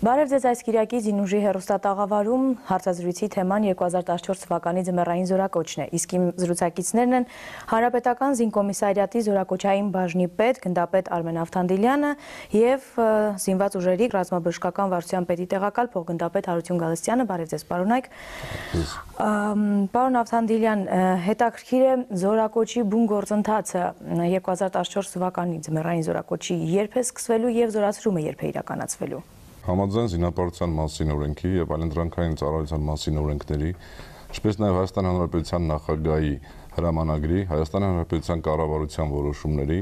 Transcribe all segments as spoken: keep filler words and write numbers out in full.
Բարև ձեզ այս կիրակի Զինուժի հեռուստատաղավարում հարցազրույցի թեման երկու հազար տասնչորս թվականի ձմեռային զորակոչն է, իսկ իմ զրուցակիցներն են Հանրապետական զինկոմիսարիատի զորակոչային բաժնի պետ, գնդապետ Արմեն Ավթանդիլյանը եւ զինված ուժերի ռազմաբժշկական վարչության պետի տեղակալ փոխգնդապետ Հարություն Գալստյանը։ Բարև ձեզ, պարոնայք։ Պարոն Ավթանդիլյան, հետաքրքիր է զորակոչի բուն գործընթացը երկու հազար տասնչորս թվականի ձմեռային զորակոչի երբ է սկսվելու եւ զորացրումը երբ է իրականացվելու։ Համաձայն զինապարտության մասին օրենքի եւ այլընտրանքային ծառայության մասին օրենքների, ինչպես նաեւ Հայաստանի Հանրապետության նախագահի հրամանագրի, Հայաստանի Հանրապետության կառավարության որոշումների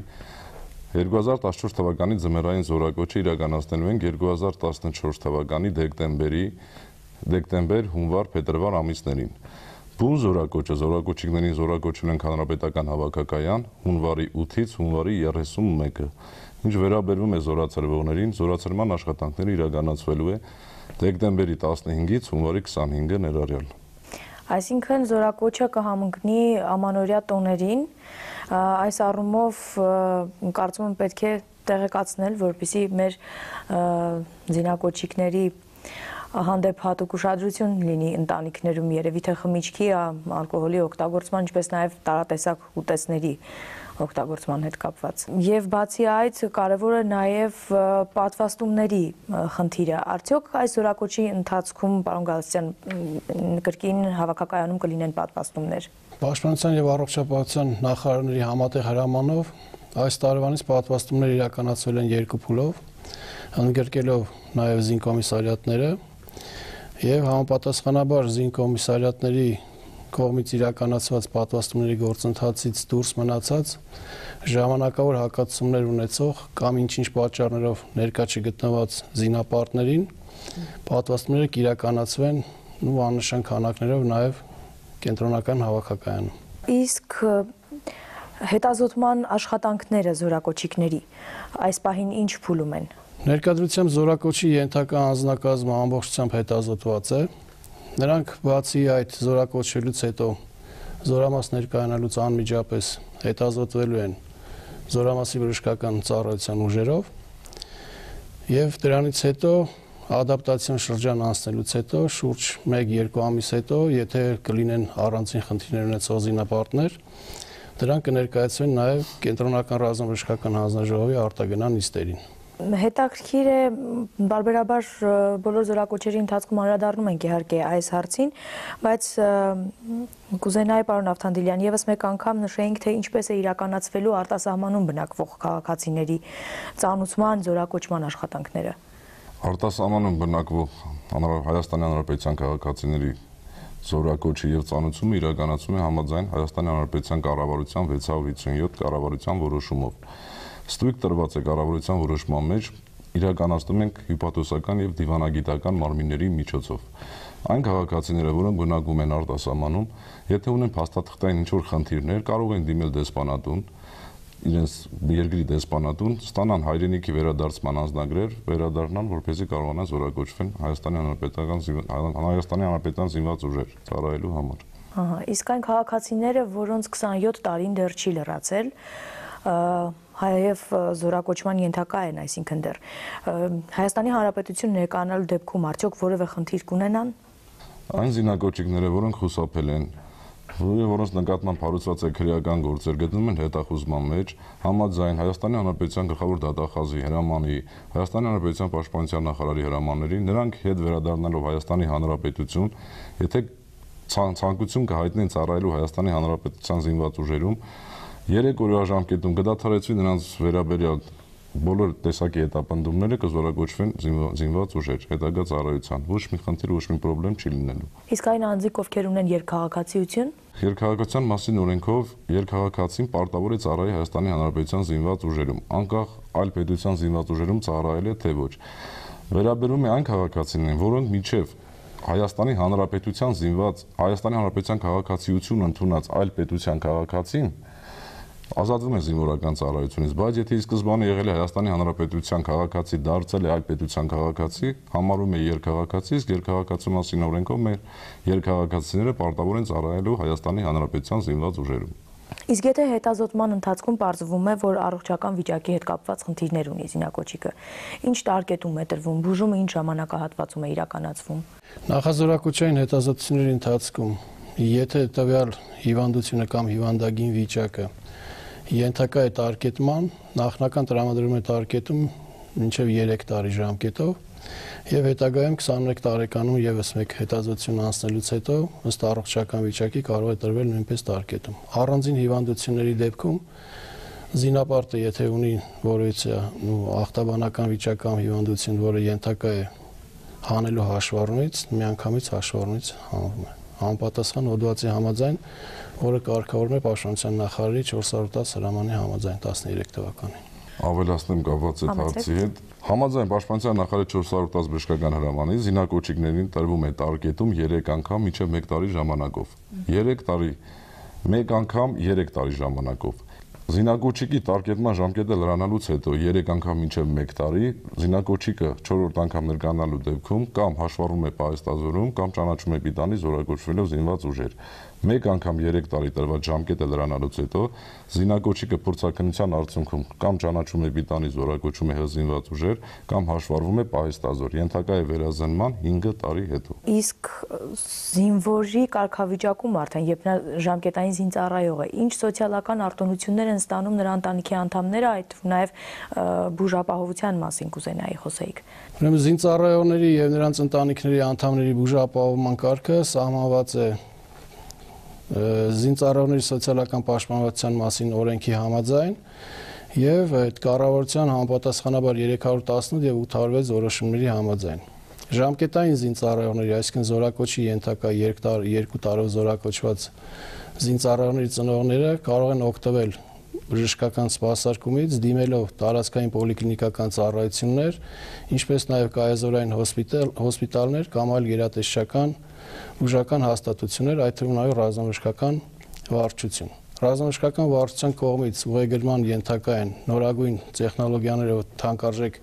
երկու հազար տասնչորս թվականի ձմեռային զորակոչը իրականացնելու են երկու հազար տասնչորս թվականի դեկտեմբերի դեկտեմբեր, հունվար, փետրվար ամիսներին։ Բուն զորակոչը զորակոչիկներին զորակոչել են Հանրապետական հավաքակայան հունվարի ութից հունվարի երեսունմեկը։ Ինչ վերաբերվում է զորացրվողներին, զորացրման աշխատանքները իրականացվելու է դեկտեմբերի տասնհինգից հունվարի քսանհինգը ներառյալ։ Այսինքն զորակոչը կհամընկնի ամանորյա տոներին, այս առումով կարծում եմ պետք է տեղեկացնել, որպեսզի մեր զինակոչիկների հանդեպ հատուկ ուշադրություն լինի ընտանիքներում, երևի թե խմիչքի, ալկոհոլի օգտագործման, ինչպես նաև տարատեսակ ուտեստների օգտագործման հետ կապված։ Եվ բացի այդ կարևոր է նաև պատվաստումների խնդիրը։ Արդյոք այս զորակոչի ընթացքում, պարոն Գալստյան, կրկին հավաքակայանում կլինեն պատվաստումներ։ Պաշտպանության եւ առողջապահության նախարարների համատեղ հրամանով այս տարվանից պատվաստումներ իրականացվել են երկու փուլով, ընդգրկելով նաև զինկոմիսարիատները եւ համապատասխանաբար զինկոմիսարիատների կողմից իրականացված պատվաստումների գործընթացից դուրս մնացած ժամանակավոր հակացումներ ունեցող կամ ինչ-ինչ պատճառներով ներկա չգտնված զինապարտներին պատվաստումները կիրականացվեն ու աննշան քանակներով նաև կենտրոնական հավաքակայանում։ Իսկ հետազոտման աշխատանքները զորակոչիկների այս պահին ինչ փուլում են։ Ներկայությամբ զորակոչի ենթակա անձնակազմը ամբողջությամբ հետազոտված է։ Նրանք բացի այդ զորակոչելուց հետո զորամաս ներկայանալուց անմիջապես հետազոտվելու են զորամասի բժշկական ծառայության ուժերով եւ դրանից հետո ադապտացիոն շրջան անցնելուց հետո շուրջ մեկ-երկու ամիս հետո, եթե կլինեն առանձին խնդիրներ ունեցող զինապարտներ, դրանք կներկայացվեն նաեւ կենտրոնական ռազմաբժշկական հանձնաժողովի արտագնան նիստերին։ Հետաքրքիր է, բարբերաբար բոլոր զորակոչերի ընթացքում անդրադառնում ենք իհարկե այս հարցին, բայց կուզենայի պարոն Ավթանդիլյան եւս մեկ անգամ նշեինք, թե ինչպես է իրականացվելու արտասահմանում բնակվող քաղաքացիների ծանուցման զորակոչման աշխատանքները։ Արտասահմանում բնակվող Հայաստանի Հանրապետության քաղաքացիների զորակոչի եւ ծանուցումը իրականացվում է համաձայն Հայաստանի Հանրապետության կառավարության վեցսուն հիսունյոթ կառավարության որոշումով։ Ստույգ տրված է կառավարության որոշման մեջ իրականացնում ենք հիպոթոսական եւ դիվանագիտական մարմինների միջոցով։ Այն քաղաքացիները, որոնք բնակվում են արտասահմանում, եթե ունեն փաստաթղթային ինչ-որ խնդիրներ, կարող են դիմել դեսպանատուն, իրենց երկրի դեսպանատուն, ստանան հայրենիքի վերադարձման անձնագրեր, վերադառնան, որպեսզի կարողանան զորակոչվեն Հայաստանի Հանրապետական Հայաստանի Հանրապետության զինված ուժեր ծառայելու համար։ Ահա, իսկ այն քաղաքացիները, որոնց քսանյոթ տարին դեռ չի լրացել, հայև զորակոչման ենթակա են, այսինքն դեռ Հայաստանի Հանրապետություն ներկայանալու դեպքում արդյոք որևէ խնդիր կունենան։ Այն զինակոչիկները, որոնք խուսափել են, որոնց նկատմամբ հարուցված է քրեական գործեր, գտնվում են հետախուզման մեջ, համաձայն Հայաստանի Հանրապետության գլխավոր դատախազի հրամանի, Հայաստանի Հանրապետության պաշտպանության նախարարի հրամանների, նրանք հետ վերադառնալով Հայաստանի Հանրապետություն, եթե ցանկություն կհայտնեն ծառայելու Հայաստանի Հանրապետության զինված ուժերում, երեք օրվա ժամկետում կդադարեցվի նրանց վերաբերյալ բոլոր տեսակի հետապնդումները կզորակոչվեն զինված ուժեր հետագա ծառայության։ Ոչ մի խնդիր, ոչ մի խնդրեմ չի լինելու։ Իսկ այն անձիկ, ովքեր ունեն երկքաղաքացիություն, երկքաղաքացիության մասին օրենքով երկքաղաքացին պարտավոր է ծառայել Հայաստանի Հանրապետության զինված ուժերում, անկախ այլ պետության զինված ուժերում ծառայել է թե ոչ։ Վերաբերում է այն քաղաքացիներին, որոնք մինչև Հայաստանի Հանրապետության զինված Հայաստանի Հանրապետության քաղաքացիություն ընդունած այլ պետության քաղաքացին ազատվում է զինվորական ծառայությունից, բայց եթե ի սկզբանե եղել է Հայաստանի Հանրապետության քաղաքացի, դարձել է այլ պետության քաղաքացի, համարվում է երկքաղաքացի, իսկ երկքաղաքացու մասին օրենքով մեր երկքաղաքացիները պարտավոր են ծառայելու Հայաստանի Հանրապետության զինված ուժերում։ Իսկ եթե հետազոտման ընթացքում պարզվում է, որ առողջական վիճակի հետ կապված խնդիրներ ունի զինակոչիկը, ինչ տարկետում է տրվում, բուժումը ինչ ժամանակահատվածում է իրականացվում։ Նախազորակոչային հետազոտությունների ընթացքում, եթե տվյալ հիվանդությունը կամ հիվանդագին վիճակը ենթակա է տարկետման, նախնական տրամադրում է տարկետում մինչև երեք տարի ժամկետով եւ հետագայում քսաներեք տարեկանում եւս մեկ հետազոտություն անցնելուց հետո ըստ առողջական վիճակի կարող է տրվել նույնպես տարկետում։ Առանձին հիվանդությունների դեպքում զինապարտը եթե ունի որևիցե ախտաբանական վիճակ կամ հիվանդություն, որը ենթակա է հանելու հաշվառումից, միանգամից հաշվառումից հանվում է։ Համապատասխան հոդվածի համաձայն, որը կարգավորվում է Պաշտպանության նախարարի չորս հարյուր տասը հրամանի համաձայն տասներեք թվականին։ Ավելացնեմ կապված այդ հարցի հետ։ Համաձայն Պաշտպանության նախարարի չորս հարյուր տասը բժշկական հրամանի զինակոչիկներին տրվում է տարկետում երեք անգամ մինչև մեկ տարի ժամանակով։ երեք տարի, մեկ անգամ երեք տարի ժամանակով։ Զինակոչիկի տարկետման ժամկետը լրանալուց հետո երեք անգամ մինչև մեկ տարի զինակոչիկը չորրորդ անգամ ներկայանալու դեպքում կամ հաշվառվում է պահեստազորում կամ ճանաչում է պիտանի զորակոչվելով զինված ուժեր։ Մեկ անգամ երեք տարի տրված ժամկետը լրանալուց հետո զինակոչիկը փորձաքննության արդյունքում կամ ճանաչում է պիտանի զորակոչում է հզինված ուժեր կամ հաշվառվում է պահեստազոր, ենթակա է վերազնման հինգ տարի հետո։ Իսկ զինվորի կարգավիճակում արդեն երբ նա ժամկետային զինծառայող է, ինչ սոցիալական արտոնություններ են ստանում նրա ընտանիքի անդամները, այդ նաև բուժապահովության մասին կուզենայի խոսեիք։ Ուրեմն զինծառայողների եւ նրանց ընտանիքների անդամների բուժապահովման կարգը սահմանված է զինծառայողների սոցիալական պաշտպանվածության մասին օրենքի համաձայն եւ այդ կառավարության համապատասխանաբար երեք հարյուր տասնութ եւ ութ հարյուր վեց որոշումների համաձայն։ Ժամկետային զինծառայողների, այսինքն զորակոչի ենթակա երկու տարով զորակոչված զինծառայողների ծնողները կարող են օգտվել բժշկական սպասարկումից, դիմելով տարածքային պոլիկլինիկական ծառայություններ, ինչպես նաև կայազորային հոսպիտալներ կամ այլ գերատեսչական բուժական հաստատություններ, այդ թվում նաև ռազմաբժշկական վարչություն։ Ռազմաբժշկական վարչության կողմից ուղեգրման ենթակա են նորագույն տեխնոլոգիաներով թանկարժեք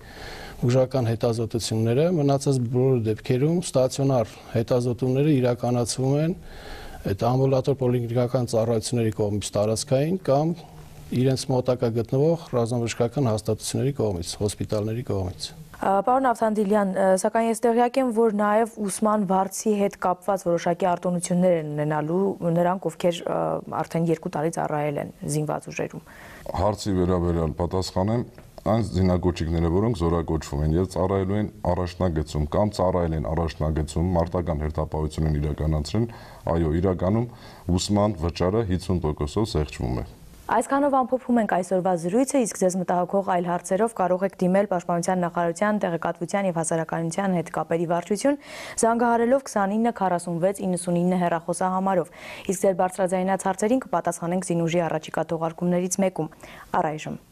բուժական հետազոտությունները, մնացած բոլոր դեպքերում ստացիոնար հետազոտումները իրականացվում են այդ ամբուլատոր պոլիկլինիկական ծառայությունների կողմից տարածքային կամ իրենց մոտակա գտնվող ռազմաբժշկական հաստատությունների կողմից, հոսպիտալների կողմից։ Պարոն Ավթանդիլյան, սակայն ես տեղյակ եմ, որ նաև ուսման վարձի հետ կապված որոշակի արտոնություններ են ունենալու նրանք, ովքեր արդեն երկու տարի ծառայել են զինված ուժերում։ Հարցի վերաբերյալ պատասխանեմ, այն զինակոչիկները, որոնք զորակոչվում են եւ ծառայելու են առաջնագծում կամ ծառայել են առաջնագծում մարտական հերթապահություն են իրականացրել, այո, իրականում ուսման վճարը հիսուն տոկոսով զեղչվում է։ Այսքանով ամփոփում ենք այսօրվա զրույցը, իսկ ձեզ մտահոգող այլ հարցերով կարող եք դիմել Պաշտպանության նախարարության տեղեկատվության եւ հասարակայնության հետ կապերի վարչություն, զանգահարելով քսանինը քառասունվեց իննսունինը հեռախոսահամարով, իսկ ձեր բարձրաձայնած հարցերին կպատասխանենք զինուժի առաջիկա թողարկումներից մեկում։ Առայժմ